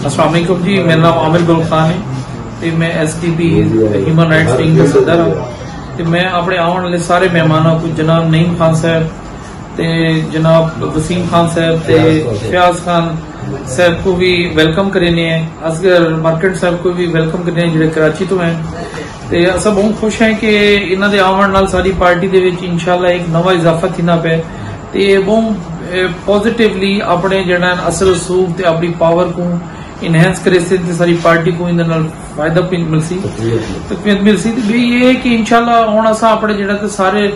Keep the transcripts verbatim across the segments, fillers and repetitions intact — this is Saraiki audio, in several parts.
السلام علیکم جی، میرا نام عامر گل خان ہے تے میں S T P human rights wing دا صدر ہاں۔ تے میں اپݨے آوݨ والے سارے مہماناں کوں، جناب نعیم خان صاحب تے جناب وسیم خان صاحب تے فیاض خان صاحب کوں وی ویلکم کریندے ہیں، اصغر مرکنڈ صاحب کوں وی ویلکم کریندے ہیں جڑے کراچی توں ہیں۔ تے اساں بہوں خوش ہیں کہ انہاں دے آوݨ نال ساݙی پارٹی دے وچ انشاءاللہ ایک نواں اضافہ تھیندا پئے تے بہوں پازیٹیولی اپݨے جڑا اثر رسوخ تے اپݨی پاور کوں انہینس کریسن تے ساݙی پارٹی کوں ایندے نال فائدہ پن ملسی، تقویت ملسی۔ تے ٻئی اے ہے کہ انشاءاللہ ہݨ اساں اپݨے جڑا تے سارے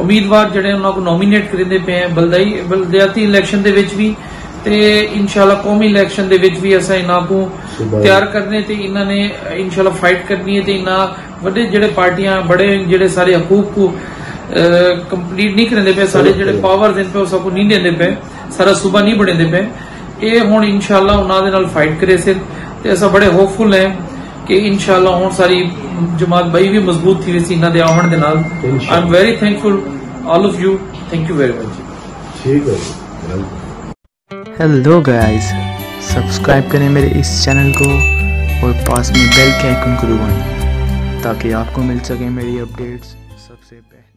امیدوار جڑے انہاں کوں نامینیٹ کریندے پئے ہیں بلدائی بلدیاتی الیکشن دے وچ وی تے انشاءاللہ قومی الیکشن دے وچ وی اساں انہاں کوں تیار کرݨے تے انہاں نے انشاءاللہ فائٹ کرݨی ہے تے انہاں وݙے جڑے پارٹیاں بڑے جڑے سارے حقوق کوں کمپلیٹ نہیں کریندے پئے، سارے جڑے پاورز ہن پئے او ساکوں نہیں ݙیندے پئے، سارا صوبہ نہیں بݨیندے پئے۔ اے ہݨ انشاءاللہ انہاں دے نال فائٹ کریسن تے اساں بڑے ہوپ فل ہیں کہ انشاءاللہ ہݨ ساری جماعت ٻئی وی مضبوط تھی ویسی انہاں دے آوݨ دے نال۔ I am very thankful all of you. Thank you very much. ٹھیک ہے جی، ویلکم۔ ہیلو گائز، سبسکرائب کریں میرے اس چینل کو اور پاس میں بیل کے آئیکن کو دبائیں تاکہ آپ کو مل سکیں میری اپڈیٹس سب سے پہلے۔